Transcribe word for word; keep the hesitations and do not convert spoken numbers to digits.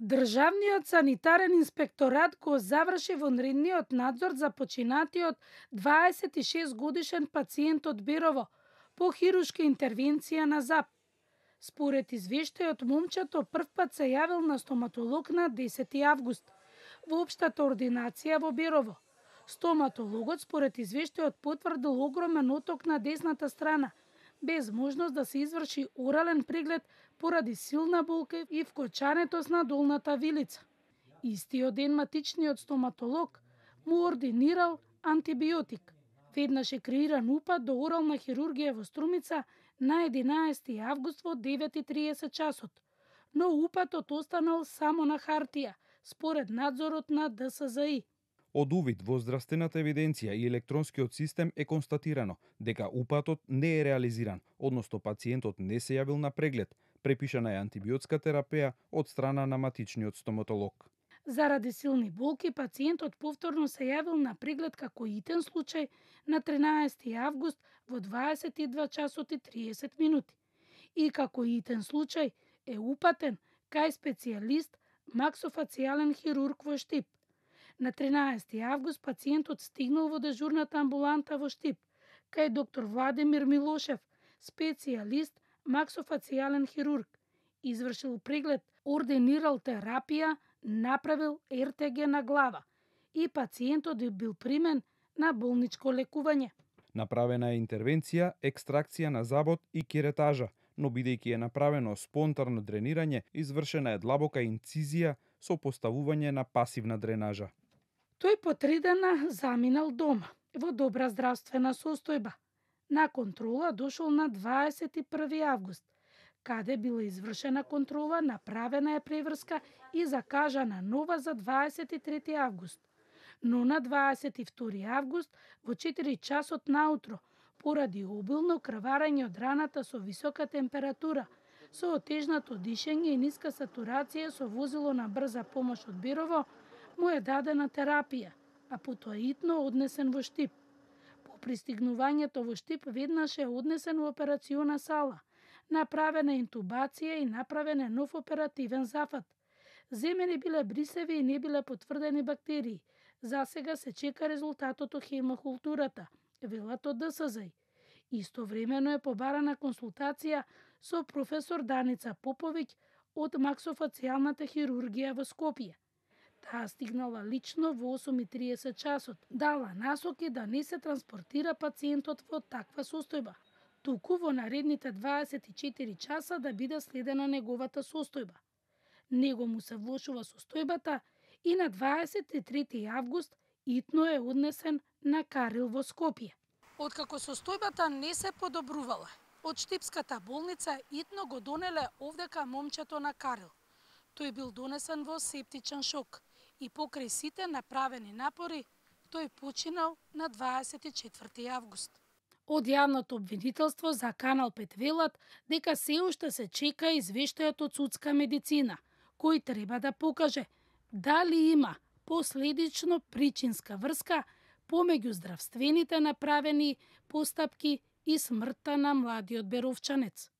Државниот санитарен инспекторат го заврши вонредниот надзор за починатиот дваесет и шест годишен пациент од Берово по хирушка интервенција на ЗАП. Според извештајот, момчето првпат се јавил на стоматолог на десети август во општата ординација во Берово. Стоматологот според извештајот потврдил огромен оток на десната страна, без можност да се изврши орален преглед поради силна болка и вкочанетост на долната вилица. Истиот ден матичниот стоматолог му ординирал антибиотик. Веднаш е креиран упат до орална хирургија во Струмица на единаесети август во девет и триесет часот, но упатот останал само на хартија, според надзорот на ДСЗИ. Од увид во здравствената евиденција и електронскиот систем е констатирано дека упатот не е реализиран, односно пациентот не се јавил на преглед, препишана е антибиотска терапија од страна на матичниот стоматолог. Заради силни болки, пациентот повторно се јавил на преглед како итен случај на тринаесети август во дваесет и два часот и триесет минути. И како итен случај е упатен кај специјалист максофацијален хирург во Штип. На тринаесети август пациентот стигнал во дежурната амбуланта во Штип, кај доктор Владимир Милошев, специјалист максофацијален хирург. Извршил преглед, ординирал терапија, направил ер те ге на глава и пациентот е бил примен на болничко лекување. Направена е интервенција, екстракција на забот и керетажа, но бидејќи е направено спонтано дренирање, извршена е длабока инцизија со поставување на пасивна дренажа. Тој по три дена заминал дома, во добра здравствена состојба. На контрола дошол на дваесет и први август, каде била извршена контрола, направена е преврска и закажана нова за дваесет и трети август. Но на дваесет и втори август во четири часот наутро, поради обилно крварење од раната со висока температура, со отежнато дишење и ниска сатурација со возило на брза помош од Берово, му е дадена терапија, а потоа итно однесен во Штип. По пристигнувањето во Штип веднаш е однесен во операциона сала. Направена интубација и направен е нов оперативен зафат. Земени биле брисеви и не биле потврдени бактерии. За сега се чека резултатот од хемокултурата, велат од ДСЗ. Истовремено е побарана консултација со професор Даница Поповиќ од максофацијалната хирургија во Скопје. Таа стигнала лично во осум и триесет часот, дала насоки да не се транспортира пациентот во таква состојба, туку во наредните дваесет и четири часа да биде следена неговата состојба. Него му се влошува состојбата и на дваесет и трети август итно е однесен на Карил во Скопје. Откако состојбата не се подобрувала, од Штипската болница итно го донеле овдека момчето на Карил. Тој бил донесен во септичен шок и покрај сите направени напори, тој починал на дваесет и четврти август. Од јавното обвинителство за Канал пет велат дека се уште се чека извештајот од судска медицина, кој треба да покаже дали има последично причинска врска помеѓу здравствените направени постапки и смртта на младиот беровчанец.